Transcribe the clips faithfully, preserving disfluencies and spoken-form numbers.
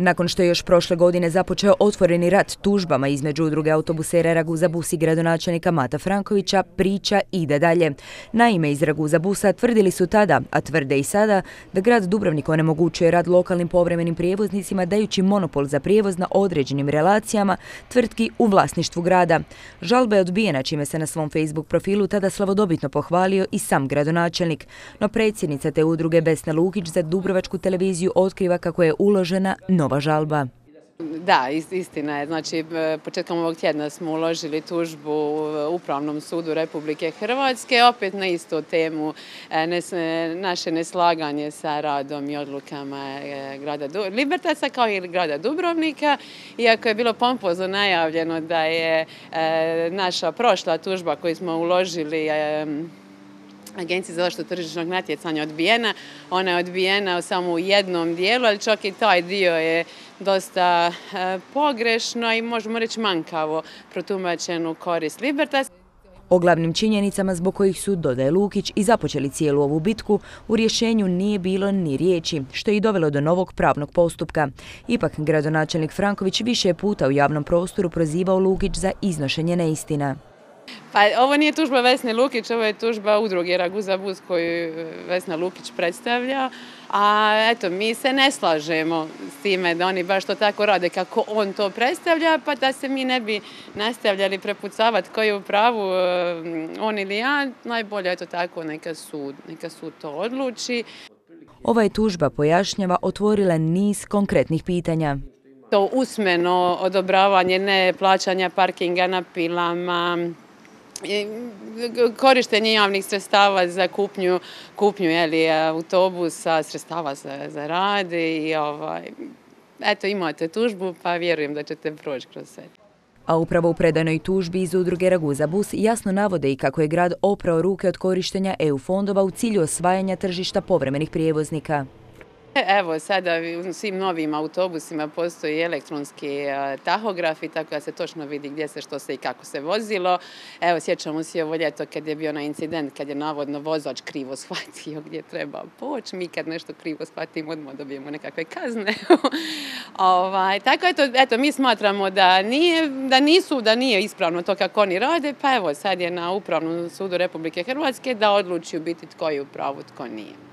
Nakon što je još prošle godine započeo otvoreni rat tužbama između udruge autobusera Raguza Bus i gradonačelnika Mata Frankovića, priča ide dalje. Naime, iz Raguza Busa tvrdili su tada, a tvrde i sada, da grad Dubrovnik onemogućuje rad lokalnim povremenim prijevoznicima dajući monopol za prijevoz na određenim relacijama tvrtki u vlasništvu grada. Žalba je odbijena, čime se na svom Facebook profilu tada slavodobitno pohvalio i sam gradonačelnik. No predsjednica te udruge Vesna Lukić za Dubrovačku televiziju otkriva kako je uložena nova žalba. Da, istina je. Znači, početkom ovog tjedna smo uložili tužbu u Upravnom sudu Republike Hrvatske, opet na istu temu, naše neslaganje sa radom i odlukama grada Libertasa kao i grada Dubrovnika. Iako je bilo pompozno najavljeno da je naša prošla tužba koju smo uložili Agenciji za zaštitu tržišnog natjecanja odbijena. Ona je odbijena samo u jednom dijelu, ali čak i taj dio je dosta pogrešno i možemo reći manjkavo protumačenu korist Libertas. O glavnim činjenicama zbog kojih su, dodaje Lukić, i započeli cijelu ovu bitku, u rješenju nije bilo ni riječi, što je i dovelo do novog pravnog postupka. Ipak, gradonačelnik Franković više je puta u javnom prostoru prozivao Lukić za iznošenje neistina. Pa ovo nije tužba Vesne Lukić, ovo je tužba udruge Raguza Bus koju Vesna Lukić predstavlja. A eto, mi se ne slažemo s time da oni baš to tako rade kako on to predstavlja, pa da se mi ne bi nastavljali prepucavati koji je u pravu on ili ja, najbolje je to tako, neka sud, neka sud to odluči. Ova je tužba, pojašnjava, otvorila niz konkretnih pitanja. To usmeno odobravanje neplaćanja parkinga na pilama, korištenje javnih sredstava za kupnju, kupnju jeli, autobusa, sredstava za, za rad i ovaj, eto, imate tužbu pa vjerujem da ćete proći kroz sve. A upravo u predanoj tužbi iz udruge Raguza Bus jasno navode i kako je grad oprao ruke od korištenja E U fondova u cilju osvajanja tržišta povremenih prijevoznika. Evo, sada u svim novim autobusima postoji elektronski tahograf i tako da se točno vidi gdje se, što se i kako se vozilo. Evo, sjećamo se ovo ljeto kad je bio onaj incident, kad je navodno vozač krivo shvatio gdje treba poći. Mi kad nešto krivo shvatimo, odmah dobijemo nekakve kazne. ovaj, tako eto, eto, mi smatramo da, nije, da nisu, da nije ispravno to kako oni rade, pa evo, sad je na Upravnom sudu Republike Hrvatske da odluči u biti tko je u pravu, tko nije.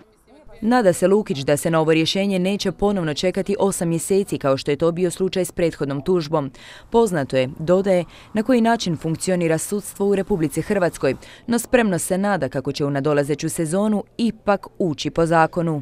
Nada se Lukić da se na ovo rješenje neće ponovno čekati osam mjeseci kao što je to bio slučaj s prethodnom tužbom. Poznato je, dodaje, na koji način funkcionira sudstvo u Republici Hrvatskoj, no spremno se nada kako će u nadolazeću sezonu ipak ući po zakonu.